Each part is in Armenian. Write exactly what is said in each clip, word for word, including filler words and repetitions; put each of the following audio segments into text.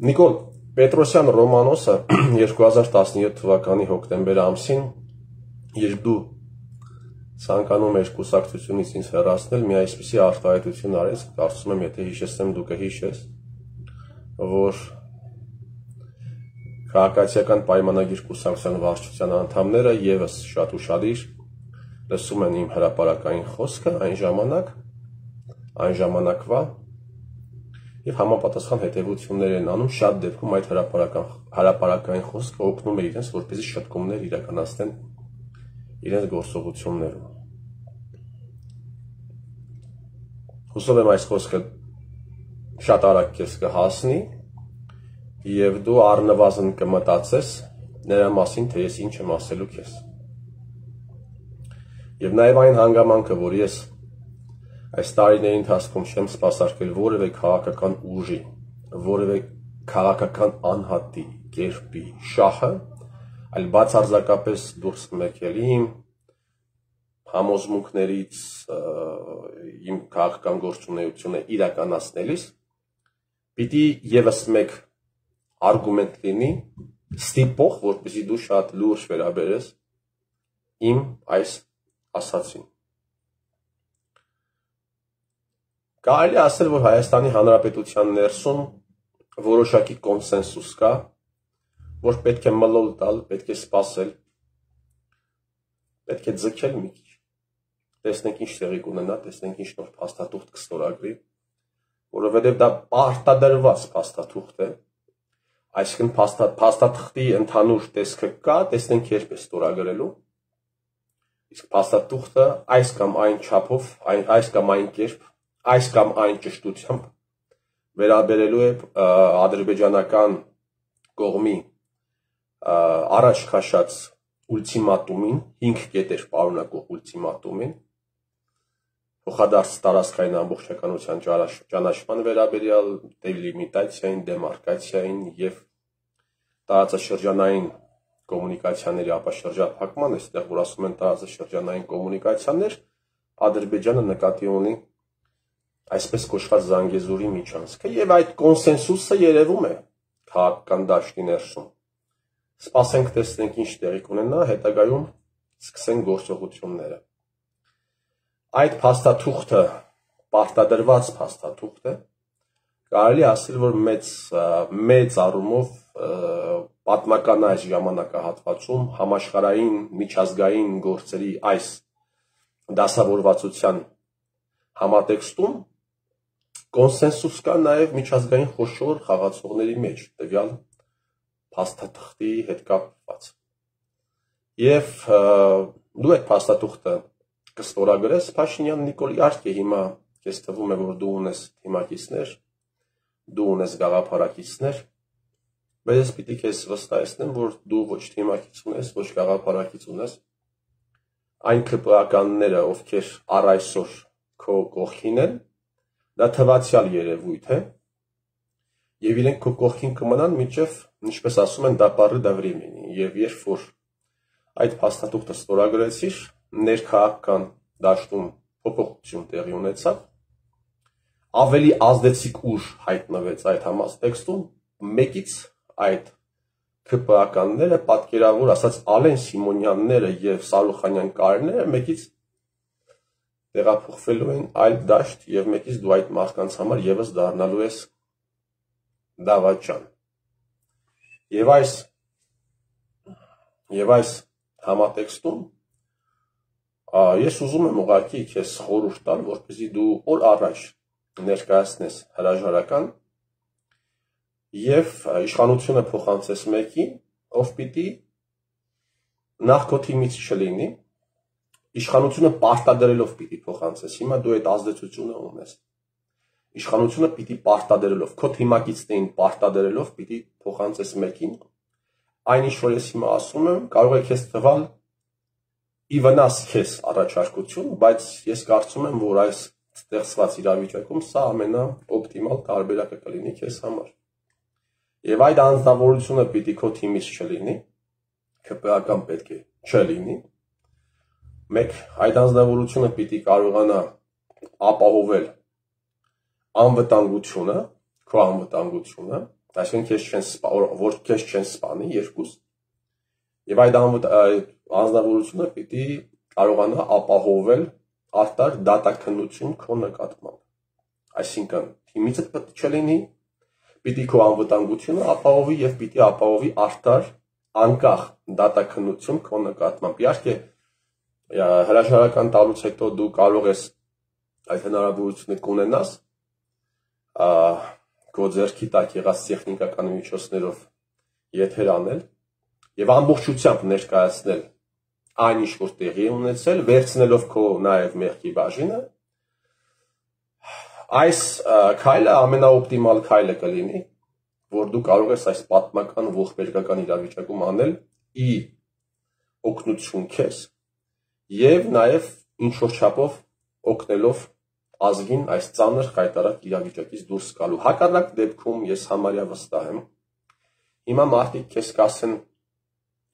Նիկոլ Պետրոսյան Ռոմանոսը երկու հազար տասնյոթ թվականի հոկտեմբեր ամսին, երբ դու ցանկանում ես կուսակցությունից ինձ հեռացնել, մի այսպիսի արտահայտություն արեց, կարծում եմ, եթե հիշեցնեմ դու կհիշես, որ քաղաքացիական պայմանագիր կուսակցության վարչության անդամները եւս շատ ուշադիր լսում են իմ հրապարակային խոսքը այն ժամանակ, այն ժամանակվա եւ համապատասխան հետեւություններ են անում, շատ դեպքում այդ հրապարակային խոսքը օգնում է իրենց, որպեսզի շտկումներ իրականացնեն իրենց գործողություններում։ Հուսով եմ այս խոսքը շատ արագ քեզ կհասնի եւ դու առնվազն կմտածես նրա մասին, թե ես ինչ եմ ասելու քեզ։ Եվ նաեւ այն հանգամանքը, որ ես այս տարիների ընթացքում չեմ սպասարկել որևէ քաղաքական ուժի, որևէ քաղաքական անհատի, կերպի, շահը, այլ բացարձակապես դուրս մեկել իմ համոզմունքներից, իմ քաղաքական գործունեությունը իրականացնելիս, պիտի եւս մեկ արգումենտ լինի, ստիպող, որպեսզի դու շատ լուրջ վերաբերես իմ այս ասացին։ Կարելի է ասել, որ Հայաստանի Հանրապետության ներսում որոշակի կոնսենսուս կա, որ պետք է մլոլ տալ, պետք է սպասել, պետք է ձգել մի քիչ, տեսնենք ինչ տեղի կունենա, տեսնենք ինչ նոր փաստաթուղթ կստորագրի, որովհետև դա պարտադրված փաստաթուղթ է, այսինքն փաստաթղթի ընդհանուր տեսքը կա, տեսնենք երբ է ստորագրելու, իսկ փաստաթուղթը այս կամ այն չափով, այս կամ այն կերպ, այս կամ այն ճշտությամբ վերաբերելու է ադրբեջանական կողմի առաջ քաշած ուլտիմատումին, հինգ կետեր պարունակող ուլտիմատումին, փոխադարձ տարածքային ամբողջականության ճանաչման վերաբերյալ, դելիմիտացիային, դեմարկացիային եւ տարածաշրջանային կոմունիկացիաների ապաշրջափակման, այստեղ որ ասում են տարածաշրջանային կոմունիկացիաներ, Ադրբեջանը նկատի ունի այսպես կոչված Զանգեզուրի միջանցքը եւ այդ կոնսենսուսը երևում է քաղաքական դաշտի ներսում։ Սպասենք տեսնենք ինչ տեղի կունենա, հետագայում սկսեն գործողությունները։ Այդ փաստաթուղթը պարտադրված փաստաթուղթ է, կարելի ասել, որ մեծ մեծ առումով պատմական այս ժամանակահատվածում համաշխարհային միջազգային գործերի այս դասավորվածության համատեքստում կոնսենսուս կա նաև միջազգային խոշոր խաղացողների մեջ, տվյալ փաստաթղթի հետ կապված։ Եվ դու այդ փաստաթուղթը կստորագրես, Փաշինյան Նիկոլ, իհարկե հիմա քեզ թվում է, որ դու ունես թիմակիցներ, դու ունես գաղափարակիցներ, բայց ես պիտի քեզ վստահեցնեմ, որ դու ոչ թիմակից ունես, ոչ գաղափարակից ունես, այն ՔՊԱ-կանները, ովքեր առ այսօր քո կողքին են, դա թվացյալ երևույթ է, եւ իրենք քո կողքին կմնան մինչեւ, ինչպես ասում են, դապարը դա վրեմենի, եւ երբ որ այդ փաստաթուղթը ստորագրեցիր, ներքաղաքական դաշտում փոփոխություն տեղի ունեցավ, ավելի ազդեցիկ ուժ հայտնվեց այդ համատեքստում, մեկից այդ ՔՊԱ-կանները, պատկերավոր ասած Ալեն Սիմոնյանները եւ Սարուխանյան Կարենները մեկից տեղափոխվելու են այլ դաշտ եւ մեկից դու այդ մարդկանց համար եւս դառնալու ես դավաճան։ Եվ այս եւ այս համատեքստում ես ուզում եմ ուղղակի քեզ խորհուրդ տալ, որպեսզի դու օր առաջ ներկայացնես հրաժարական եւ իշխանությունը փոխանցես մեկին, ով պիտի նախ քո թիմից չլինի, իշխանությունը պարտադրելով պիտի փոխանցես, հիմա դու այդ ազդեցությունը ունես, իշխանությունը պիտի պարտադրելով, քո թիմակիցներին պարտադրելով պիտի փոխանցես մեկին, այն ինչ որ ես հիմա ասում եմ, կարող է քեզ թվալ ի վնաս քեզ առաջարկություն, բայց ես կարծում եմ, որ այս ստեղծված իրավիճակում սա ամենաօպտիմալ տարբերակը կլինի քեզ համար։ Եվ այդ անձնավորությունը պիտի քո թիմից չլինի, ՔՊԱ-կան պետք է չլինի, մեկ այդ անձնավորությունը պիտի կարողանա ապահովել անվտանգությունը, քո անվտանգությունը, այսինքն քեզ չեն որ քեզ չեն սպանի երկուս, եւ այդ անձնավորությունը պիտի կարողանա ապահովել արտար դատաքննություն քո նկատմամբ, այսինքն թիմիցդ պետք չլինի, պիտի քո անվտանգությունը ապահովի եւ պիտի ապահովի արտար անկախ դատաքննություն քո նկատմամբ։ Իհարկե հրաժարական տալուց հետո դու կարող ես այդ հնարավորությունը կունենաս քո ձեռքի տակ եղած տեխնիկական միջոցներով եթեր անել եւ ամբողջությամբ ներկայացնել այն ինչ որ տեղի է ունեցել, վերցնելով քո նաեւ մեղքի բաժինը, այս քայլը ամենաօպտիմալ քայլը կլինի, որ դու կարող ես այս պատմական ողբերգական իրավիճակում անել ի օգնություն քեզ եւ նաեւ ինչ որ չափով օգնելով ազգին այս ծանր խայտարակ իրավիճակից դուրս գալու։ Հակառակ դեպքում ես համարյա վստահ եմ, հիմա մարդիկ քեզ կասեն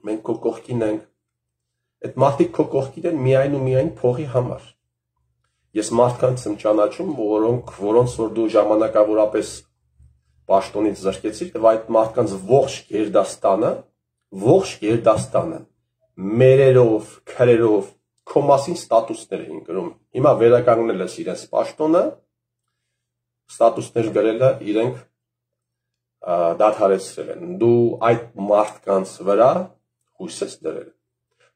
մենք քո կողքին ենք, այդ մարդիկ քո կողքին են միայն ու միայն փողի համար։ Ես մարդկանց եմ ճանաչում, որոնք որոնց որ դու ժամանակավորապես պաշտոնից զրկեցիր, եւ այդ մարդկանց ողջ գերդաստանը, ողջ գերդաստանը մերերով, քրերով քո մասին ստատուսներ էին գրում։ Հիմա վերականգնել ես իրենց պաշտոնը, ստատուսներ գրելը իրենք դադարեցրել են։ Դու այդ մարդկանց վրա հույս ես դրել։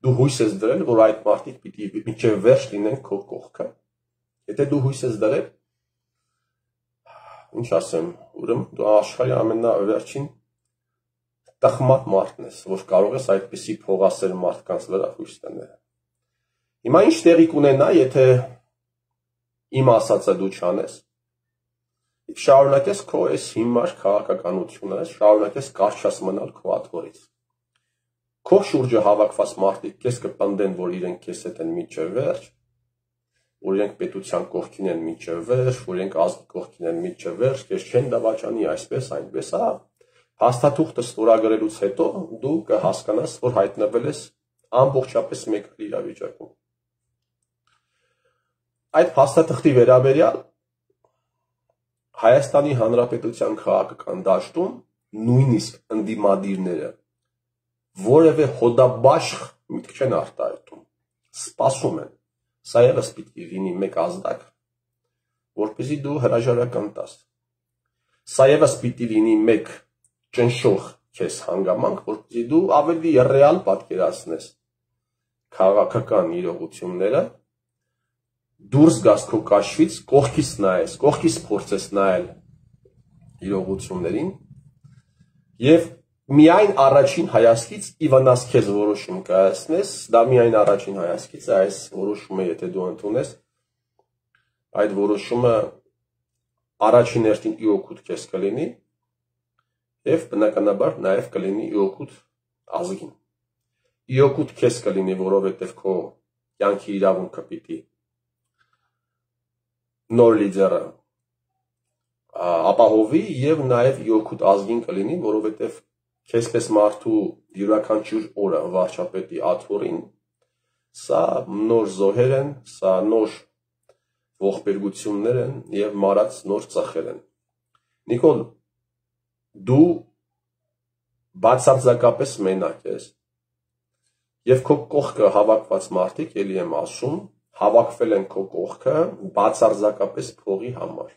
Դու հույս ես դրել, որ այդ մարդիկ պիտի մինչև վերջ լինեն քո կողքը։ Եթե դու հույս ես դրել, ինչ ասեմ, ուրեմն դու աշխարհի ամենավերջին տխմատ մարդն ես, որ կարող ես այդպիսի փողասեր մարդկանց վրա հույս դնել։ Հիմա ինչ տեղի կունենա, եթե իմ ասածը դու չանես, շարունակես քո այս հիմար քաղաքականությունը, շարունակես կարճած մնալ քո աթոռից։ Քո շուրջը հավաքված մարդիկ քեզ կպնդեն, որ իրենք քեզ հետ են մինչև վերջ, որ իրենք պետության կողքին են մինչև վերջ, որ իրենք ազգի կողքին են մինչև վերջ, քեզ չեն դավաճանի այսպես, այնպես, հա։ Փաստաթուղթը ստորագրելուց հետո դու կհասկանաս, որ հայտնվել ես ամբողջապես մեկ իրավիճակում։ Այդ փաստաթղթի վերաբերյալ Հայաստանի Հանրապետության քաղաքական դաշտում նույնիսկ ընդդիմադիրները որևէ հոդաբաշխ միտք չեն արտահայտում, սպասում են, սա ևս պիտի լինի մեկ ազդակ, որպեսզի դու հրաժարական տաս, սա ևս պիտի լինի մեկ ճնշող քեզ հանգամանք, որպեսզի դու ավելի ռեալ պատկերացնես քաղաքական իրողությունները, դուրս գաս քո կաշվից, կողքից նայես, կողքից փորձես նայել իրողություններին եւ միայն առաջին հայացքից իվանաս քեզ որոշում կայացնես, դա միայն առաջին հայացքից է, այս որոշումը եթե դու ընդունես, այդ որոշումը առաջին հերթին ի օգուտ քեզ կլինի եւ բնականաբար նաեւ կլինի ի օգուտ ազգին։ Ի օգուտ քեզ կլինի, որովհետեւ քո կյանքի իրավունքը պիտի նոր լիդերը ապահովի եւ նաեւ ի օգուտ ազգին կլինի, որովհետեւ քեզպես մարդու յուրաքանչյուր օրը վարչապետի աթոռին սա նոր զոհեր են, սա նոր ողբերգություններ են եւ մարած նոր ծախեր են։ Նիկոլ, դու բացարձակապես մենակ ես եւ քո կողքը հավաքված մարդիկ, ելի եմ ասում, հավաքվել են քո կողքը բացարձակապես փողի համար։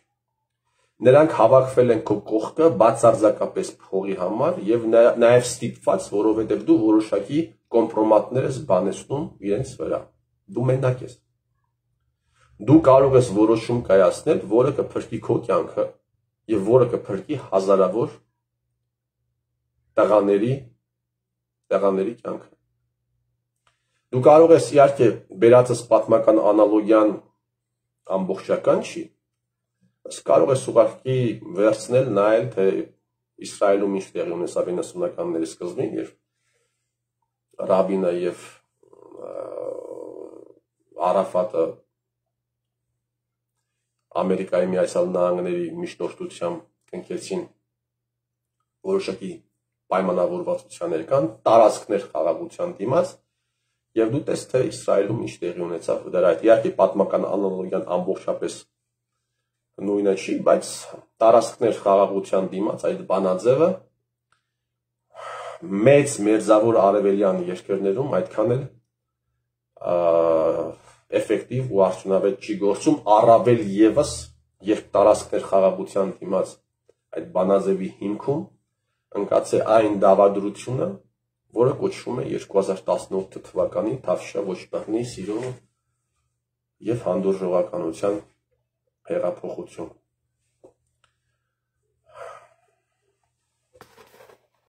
Նրանք հավաքվել են քո կողքը բացարձակապես փողի համար եւ նաեւ ստիպված, որովհետեւ դու որոշակի կոմպրոմատներ ես բանեցնում իրենց վրա։ Դու մենակ ես։ Դու կարող ես որոշում կայացնել, որը կփրկի քո կյանքը եւ որը կփրկի հազարավոր տղաների տղաների կյանքը։ Դու կարող ես իհարկե բերածս պատմական անալոգիան ամբողջական չի, բայց կարող ես ուղղակի վերցնել նայել, թե Իսրայելում ինչ տեղի ունեցավ իննսունականների սկզբին, երբ Ռաբինը եւ Արաֆատը Ամերիկայի Միացյալ Նահանգների միջնորդությամբ կնքեցին որոշակի պայմանավորվածություններ կան, տարածքներ խաղաղության դիմաց, եւ դու տես թե Իսրայելում ինչ տեղի ունեցավ դրա հետ։ Իհարկե պատմական անալոգիան ամբողջապես նույնը չի, բայց տարածքներ խաղաղության դիմաց այդ բանաձևը մեծ մերձավոր արևելյան երկրներում այդքան էլ էֆեկտիվ ու արդյունավետ չի գործում, առավել ևս, երբ տարածքներ խաղաղության դիմաց այդ բանաձևի հիմքում ընկած է այն դավադրությունը, որը կոչվում է երկու հազար տասնութ թվականի Թավշյա ոչխարի սիրո և հանդուրժողականության հեղափոխություն։